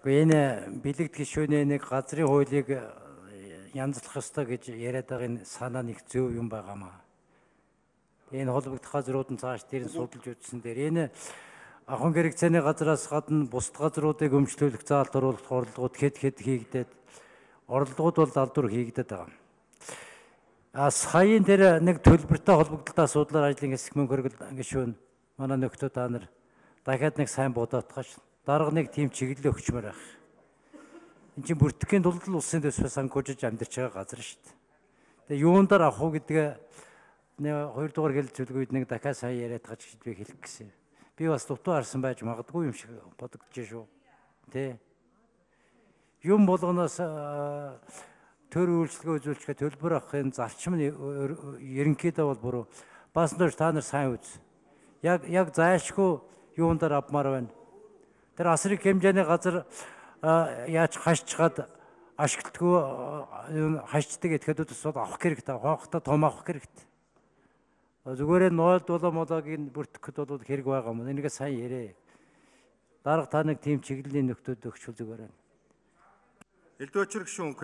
Энэ бэлэгд гишүүний нэг газрын хуулийг янзлах ёстой гэж яриад байгаа энэ санаа нэг зөв юм байгаамаа. Энэ холбогдох газрууд нь цааш дээр нь судалж үзсэн дээр энэ ахын хэрэгцээний газраас гадна бусад газруудыг өмчлүүлэх заалт оруулах оролдлогууд хэд хийгдээд оролдлогууд бол далдуур хийгдээд байгаа. Саяын тэр нэг төлбөртэй холбогдлолтой асуудлаар ажлын хэсэг мөнгө хөргөл гишүүн манай нөхдөө та нар дахиад нэг сайн бодоотгооч. Дарга нэг тийм чиглэлээ өгчмөр байх. Энд чинь бүртгэхийн тулд л улсын төсвөөс санхүүжиж амьдарч байгаа газар шүү дээ. Тэгээ юундаар авах уу гэдгээ нэг хоёрдугаар хэлэлцүүлэг үед нэг дахиад сайн яриад байгаа ч гэж би хэлэх гэсэн. Би бас дутуу харсан байж магадгүй юм шиг бодогдож шүү. Тэ. Юм болгоноос төр үйлчлэгээ үзүүлчихээ төлбөр авахын зарчим нь ерөнхийдөө бол буруу. Бас нөр та нар сайн үз. Яг зайлшгүй юундаар авмаар байна. Тэр асрыг хэмжээний газар яаж хашчгаад ашиглалтгүй хашчдаг этгээдүүд бол авах хэрэгтэй. Хоохтой том авах хэрэгтэй. Зүгээр нь 0-7 бүртгэхэд бол хэрэг байгаа юм. Энийг сайн ярэ. Дарга та нэг тийм чиглэлийн нөхдөд өгчүүл зүгээр байна. Элдвэчэр гишүүн